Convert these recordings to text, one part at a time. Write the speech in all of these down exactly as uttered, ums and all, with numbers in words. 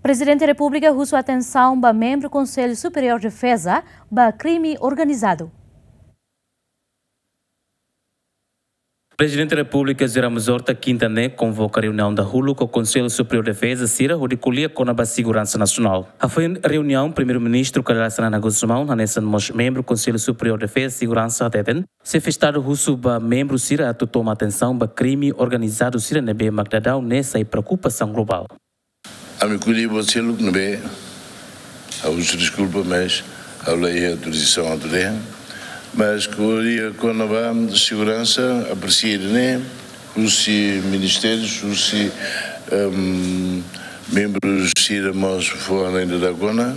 Prezidente Repúblika husu atensaun ba membru Konsellu Superiór Defeza ba krime organizadu. Prezidente Repúblika José Ramos Horta kinta ne'e konvoka reuniaun dahuluk ho Konsellu Superiór Defeza sira hodi ko'alia kona-ba seguransa nasionál. Hafoin reuniaun, Primeiru-Ministru Kay Rala Xanana Gusmão hanesan mós membru Konsellu Superiór Defeza Seguransa hateten, Xefe Estadu husu ba membru sira atu toma atensaun ba krime organizadu sira ne'ebé mak daudaun ne'e sai preokupasaun globál. Ami ko'alia buat seluk ne'ebé, ha'u husu deskulpa, mas ha'u la iha autorizasaun atu dehan. Mas ko'alia kona-ba seguransa, apresia ne'e, husi ministériu, husi, ehm, membru sira mós fó hanoin daudauk ona.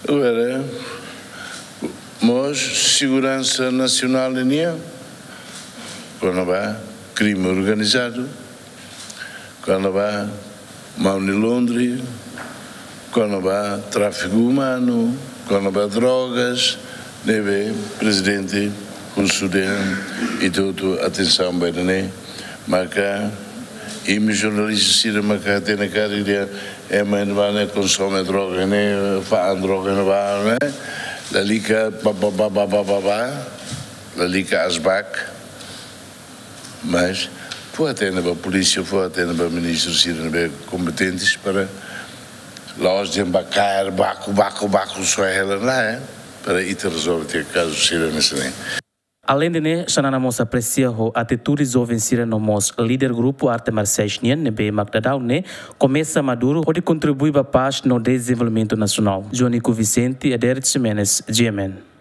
Agora, mós seguransa nasionál nian, kona-ba krime organizadu, kona-ba money laundering, kona-ba tráfiku umanu, kona-ba drogas, ne'ebé Prezidente husu dehan ita hotu atensaun ba ida-ne'e, maka imi jornalista sira maka hatene karik dehan ema ne'ebé ne'e konsome droga ne'e, fa'an droga ne'ebá ne'e, lalika ba, ba, ba, lalika asbak, mas fó hatene ba polísia, fó hatene ba ministru sira ne'ebé kompetentes para la'ós dehan ba kaer baku, baku, baku, só hela ne'e, para ita rezolve tiha kazu sira hanesan ne'e. Aleinde ne'e, Xanana mós apresia ho atitude joven sira no mós líder grupu arte marsiais nian ne'ebé mak daudaun ne'e komesa maduru hodi kontribui ba pás no dezenvolvimentu nasionál. João Nico Vicente, Adérito Ximenes, G M N.